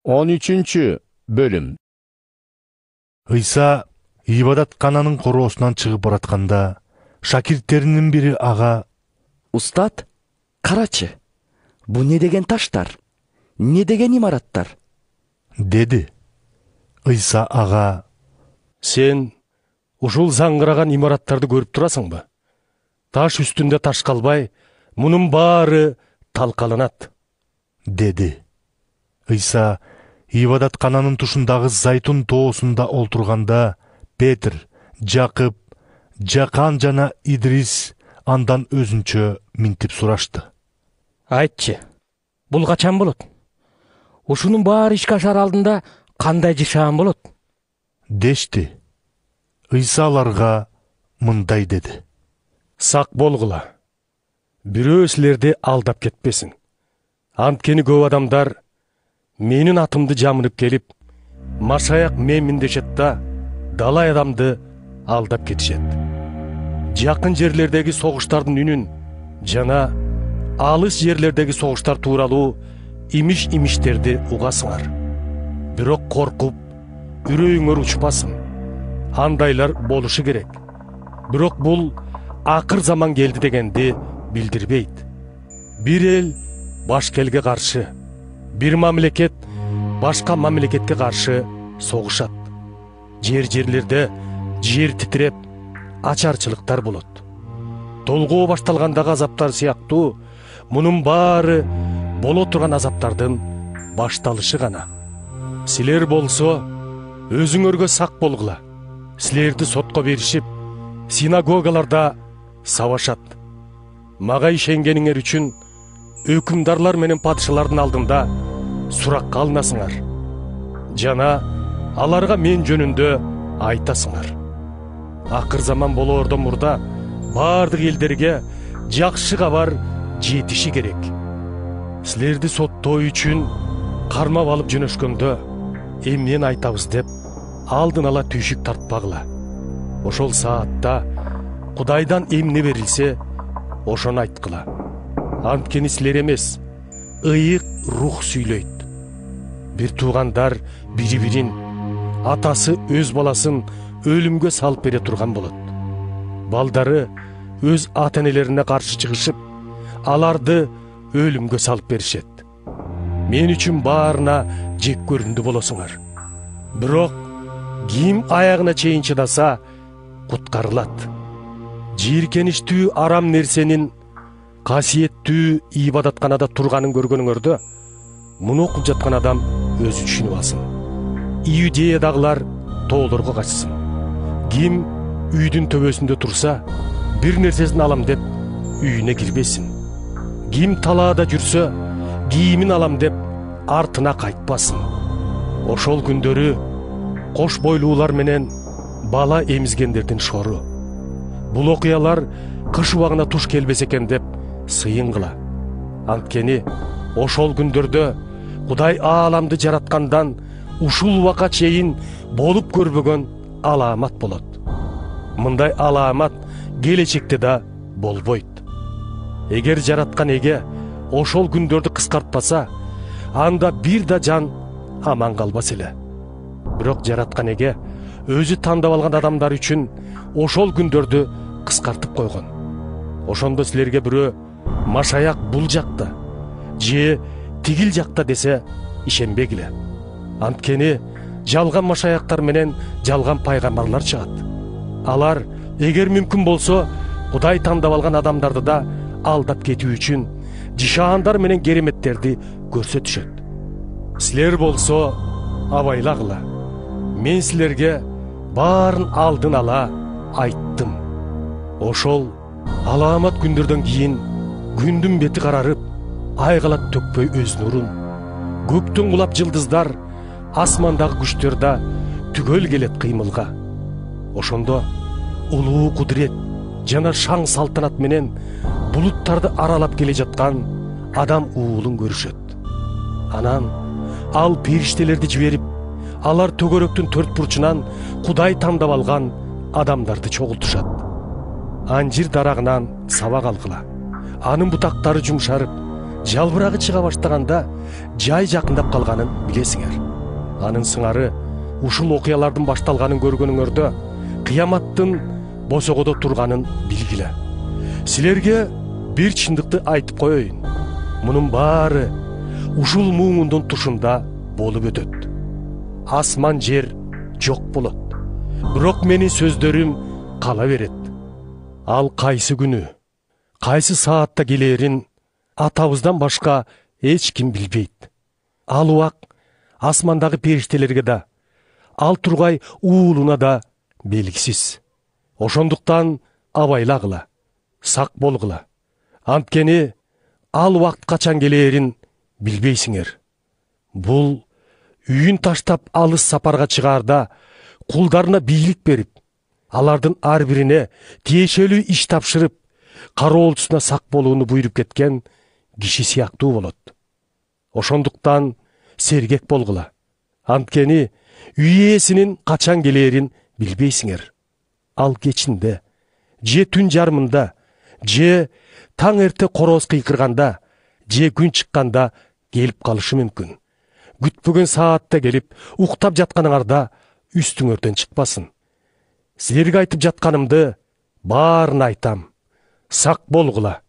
13-бөлүм. Ыйса ибадаткананын короосунан чыгып баратканда, шакирттеринин бири ага: «Устат, карачы, бу не деген таштар? Не деген имараттар?» деди. Ыйса ага: «Сен ушул заңгыраган имараттарды көрүп турасыңбы? Таш үстүндө таш калбай, мунун баары талкаланат» деди. Ыйса ибадаткананын тушундагы Зайтун тоосунда олтурганда, Петр, Жакып, Жакан жана Идрис андан өзүнчө минтип сурашты: «Айтчы, бул качан болот? Ушунун баары ишке ашар алдында кандай жашаан болот?» дешти. Ыйса аларга мындай деди: «Сак болгула. Бирөө силерди алдап кетпесин. Анткени көп адамдар менин атымды жамынып келип, Машаяк менмин дешет да, далай адамды алдап кетишет. Жакын жерлердеги согуштардын үнүн жана алыс жерлердеги согуштар тууралуу имиш-имиштерди угасыңар. Бирок коркуп, үрөйүңөр учпасын. Андайлар болушу керек. Бирок бул акыр заман келди дегенди билдирбейт. Бир эл башка элге каршы, бир мамлекет башка мамлекетке каршы согушат. Жерлерде жер титиреп, ачарчылыктар болот. Толгоо башталгандагы азаптар сыяктуу мунун баары боло турган азаптардын башталышы гана. Силер болсо өзүңөргө сак болгула. Силерди сотко беришип, синагогаларда сабашат. Мага ишенгениңер үчүн өкүмдарлар менен падышалардын алдында суракка алынасыңар. Жана аларга мен жөнүндө айтасыңар. Акыр заман болоордон мурда бардык элдерге жакшы кабар жетиши керек. Силерди соттоо үчүн кармап алып жөнөшкөндө эмнени айтабыз деп алдын ала түйшүк тартпагыла. Ошол саатта Кудайдан эмне берилсе, ошону айткыла. Анткени силер эмес, ыйык рух сүйлөйт. Бир туугандар бири-бирин, атасы өз баласын өлүмгө салып бере турган болот. Балдары өз ата-энелерине каршы чыгышып, аларды өлүмгө салып беришет. Мен үчүн баарына жек көрүндү болосуңар. Бирок ким аягына чейин чыдаса, куткарылат. Жийиркеничтүү арам нерсенин касиеттүү ибадатканада турганын көргөнүңөрдө, муну окуп жаткан адам өзү түшүнүп алсын. Иудеядагылар тоолорго качсын. Ким үйдүн төбөсүндө турса, бир нерсесин алам деп үйүнө кирбесин. Ким талаада жүрсө, кийимин алам деп артына кайтпасын. Ошол күндөрү кош бойлуулар менен бала эмизгендердин шору. Бул окуялар кыш убагына туш келбесе экен деп сыйынгыла. Анткени ошол күндөрдө Кудай ааламды жараткандан ушул убакка чейин болуп көрбөгөн алаамат болот. Мындай алаамат келечекте да болбойт. Эгер жараткан эге ошол күндөрдү кыскартпаса, анда бир да жан аман калбас эле. Бирок жараткан эге өзү тандап алган адамдар үчүн ошол күндөрдү кыскартып койгон. Ошондо силерге бирөө Машаяк бул жакта же тигил жакта десе, ишенбегиле. Анткени жалган машаяктар менен жалган пайгамбарлар чыгат. Алар эгер мүмкүн болсо, Кудай тандап алган адамдарды да алдап кетүү үчүн жишаандар менен кереметтерди көрсөтүшөт. Силер болсо абайлагыла. Мен силерге баарын алдын ала айттым. Ошол алаамат күндөрдөн кийин күндүн бети карарып, ай калат төкпөй өз нурун. Көктөн кулап жылдыздар, асмандагы күчтөр да түгөл келет кыймылга. Ошондо улуу кудурет жана шаң салтанат менен булуттарды аралап келе жаткан адам уулун көрүшөт. Анан ал периштелерди жиберип, алар төгөрөктүн төрт бурчунан Кудай тандап алган адамдарды чогултушат. Анжир дарагынан сабак алгыла. Анын бутактары жумшарып, жалбырагы чыга баштаганда жай жакындап калганын билесиңер. Анын сыңары ушул окуялардын башталганын көргөнүңөрдө кыяматтын босогодо турганын билгиле. Силерге бир чындыкты айтып коеюн. Мунун баары ушул муңундун тушунда болуп өтөт. Асман жер жок болот. Бирок менин сөздөрүм кала берет. Ал кайсы күнү, кайсы саатта келерин атабыздан башка эч ким билбейт. Ал убак асмандагы периштелерге да, ал тургай уулуна да белгисиз. Ошондуктан абайлагыла, сак болгула. Анткени ал убакыт качан келерин билбейсиңер. Бул үйүн таштап алыс сапарга чыгаарда кулдарына бийлик берип, алардын ар бирине тиешелүү иш тапшырып, кароолчусуна сак болууну буйруп кеткен киши сыяктуу болот. Ошондуктан сергек болгула. Анткени үй ээсинин качан келерин билбейсиңер. Ал кечинде, же түн жарымында, же таң эрте короз кыйкырганда, же күн чыкканда келип калышы мүмкүн. Күтпөгөн саатта келип, уктап жатканыңарда үстүңөрдөн чыкпасын. Силерге айтып жатканымды баарын айтам. Сак болгула.